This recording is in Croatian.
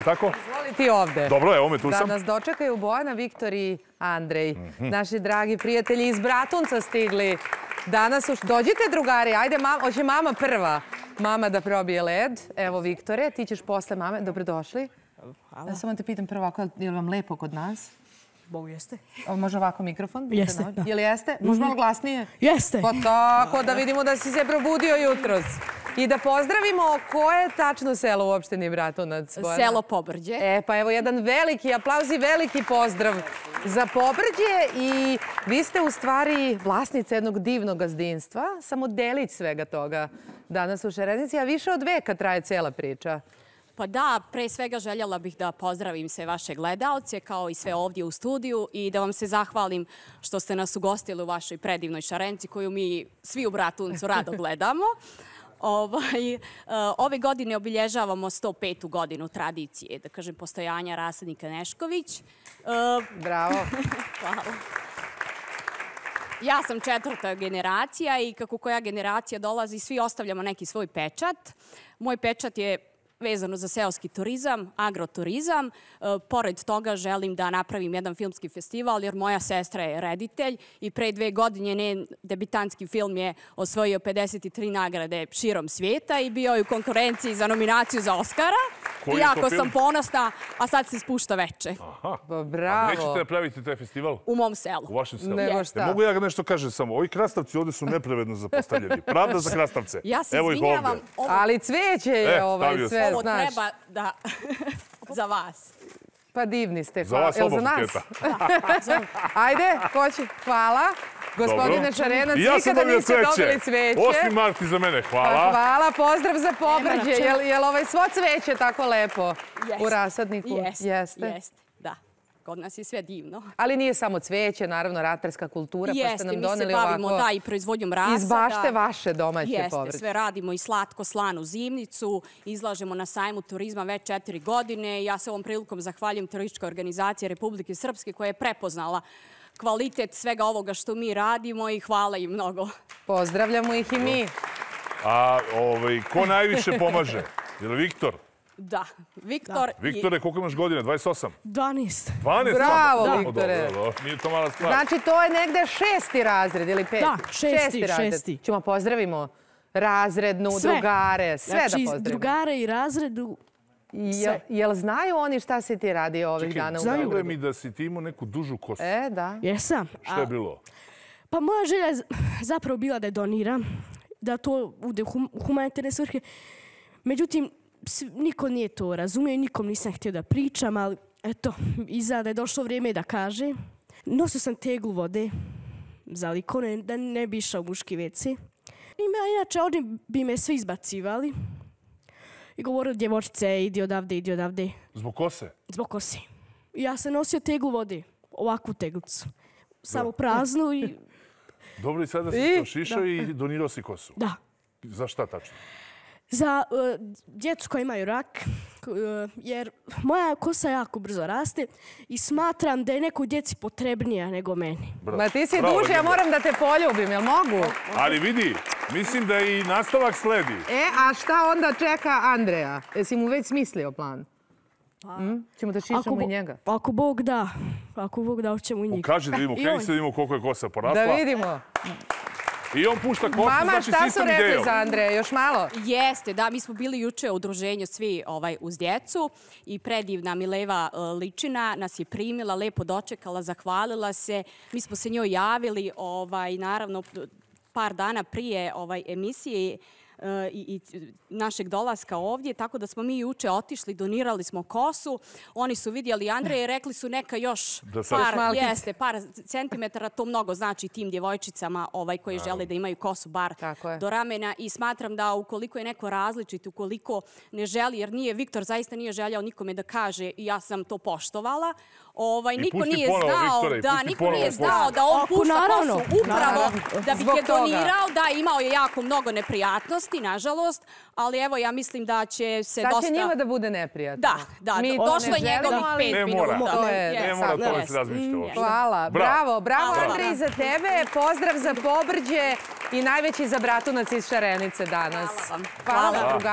tako? Izvoli ti ovde. Dobro, evo me, tu sam. Da nas dočekaju Bojana, Viktor i Andrej. Naši dragi prijatelji iz Bratunca stigli. Danas dođite, drugari, ajde, hoće mama prva. Mama da probije led. Evo, Viktore, ti ćeš posle mame. Dobrodošli. Hvala. Ja samo te pitam prvo, je li vam lepo kod nas? Bogu jeste. Može ovako mikrofon? Jeste, da. Je li jeste? Može malo glasnije? Jeste. Pa tako, da vidimo da si se probudio jutros. I da pozdravimo koje je tačno selo u opštini Bratunac? Selo Pobrđe. Pa evo jedan veliki aplauz i veliki pozdrav za Pobrđe. I vi ste u stvari vlasnica jednog divnog gazdinstva, samo delić svega toga danas u Šarenici, a više od veka traje cijela priča. Pa da, pre svega željela bih da pozdravim sve vaše gledaoce, kao i sve ovdje u studiju, i da vam se zahvalim što ste nas ugostili u vašoj predivnoj Šarenici, koju mi svi u Bratuncu rado gledamo. Ove godine obilježavamo 105. godinu tradicije, da kažem, postojanja rasadnika Nešković. Bravo. Hvala. Ja sam 4. generacija i kako koja generacija dolazi, svi ostavljamo neki svoj pečat. Moj pečat je vezano za seoski turizam, agroturizam. Pored toga želim da napravim jedan filmski festival jer moja sestra je reditelj i pre 2 godine njen debitanski film je osvojio 53 nagrade širom svijeta i bio je u konkurenciji za nominaciju za Oscara. I jako sam ponosna, a sad se spušta veče. Aha. Bravo. A nećete napraviti taj festival? U mom selu. U vašem selu? Nego šta? Mogu ja ga nešto kažem samo? Ovi krastavci ovdje su nepravedno zapostavljeni. Pravda za krastavce. Ja se Evo ih izvinjavam. ovdje. Ali cveće je sve, Ovo znaš. treba da... za vas. Pa divni ste. Za vas Jel oba za nas? buketa. Ajde, ko će? Hvala. Gospodine Šarenac, I ja sam nikada dobio niste dobili cveće. 8. marti za mene, Pa hvala. hvala, pozdrav za Pobrđe. Je li svo cveće tako lepo u rasadniku? Jeste. Da. Kod nas je sve divno. Ali nije samo cveće, naravno ratarska kultura, pa ste nam doneli ovako... Jeste, mi se bavimo i proizvodnjom rasada. Iz bašte vaše domaće povrće. Jeste, sve radimo i slatko-slanu zimnicu, izlažemo na sajmu turizma već 4 godine. Ja se ovom prilikom zahvaljujem Turističkoj organizaciji Republike Srpske koja je prepoznala kvalitet svega ovoga što mi radimo i hvala im mnogo. Pozdravljamo ih i mi. A ko najviše pomaže? Je li Viktor? Da, Viktor... Viktore, koliko imaš godina? 28? 12. 12? Bravo, Viktore. Nije to mala stvar. Znači, to je negde 6. razred ili 5. Da, 6. Ćemo pozdravimo razrednu, drugare, sve da pozdravimo. Znači, drugare i razredu, sve. Jel znaju oni šta si ti radio ovih dana u Beogradu? Znaju mi da si ti imao neku dužu kosu. Da. Jesam. Šta je bilo? Pa moja želja je zapravo bila da je doniram, da to bude u humanitarne svrhe. Međutim, niko nije to razumio i nikom nisam htio da pričam, ali eto, iza da je došlo vrijeme da kaže. Nosio sam teglu vode za likone, da ne bi išao u muški WC. Inače, oni bi me svi izbacivali i govorili, djevojčice, idi odavde. Zbog kose? Zbog kose. Ja sam nosio teglu vode, ovakvu teglicu, samo praznu i... Dobro, i sada si to šišao i donirao si kosu? Da. Za šta tačno? Za djecu koji imaju rak, jer moja kosa jako brzo raste i smatram da je nekoj djeci potrebnija nego meni. Ma ti si duže, ja moram da te poljubim, jel mogu? Ali vidi, mislim da i nastavak sledi. A šta onda čeka Andreja? Jesi mu već smislio plan? Ćemo da šišamo i njega. Ako Bog da, hoćemo i njega. Kaži da vidimo, kreni se da vidimo koliko je kosa porasla. Da vidimo. I on pušta kosu, Mama, znači šta su sistem rekli idejom. za Andreja? Još malo? Jeste, da, mi smo bili juče u udruženju svi uz djecu i predivna Mileva Ličina nas je primila, lepo dočekala, zahvalila se. Mi smo se njoj javili, naravno, par dana prije emisije i našeg dolaska ovdje, tako da smo mi juče otišli, donirali smo kosu. Oni su vidjeli Andreja i rekli su neka još par centimetara, to mnogo znači tim djevojčicama koji žele da imaju kosu bar do ramena i smatram da ukoliko je neko različit, ukoliko ne želi, jer Viktor zaista nije željao nikome da kaže i ja sam to poštovala, niko nije znao da on pušta kosu upravo da bi je donirao, da imao je jako mnogo neprijatnosti, nažalost, ali evo ja mislim da će se dosta... Sad će njima da bude neprijatno. Da, došlo je njegovih 5 minuta. Ne mora to da se razmišlja. Hvala, bravo Andrej za tebe, pozdrav za Pobrđe i najveći za Bratunac iz Šarenice danas. Hvala vam. Hvala, drugari.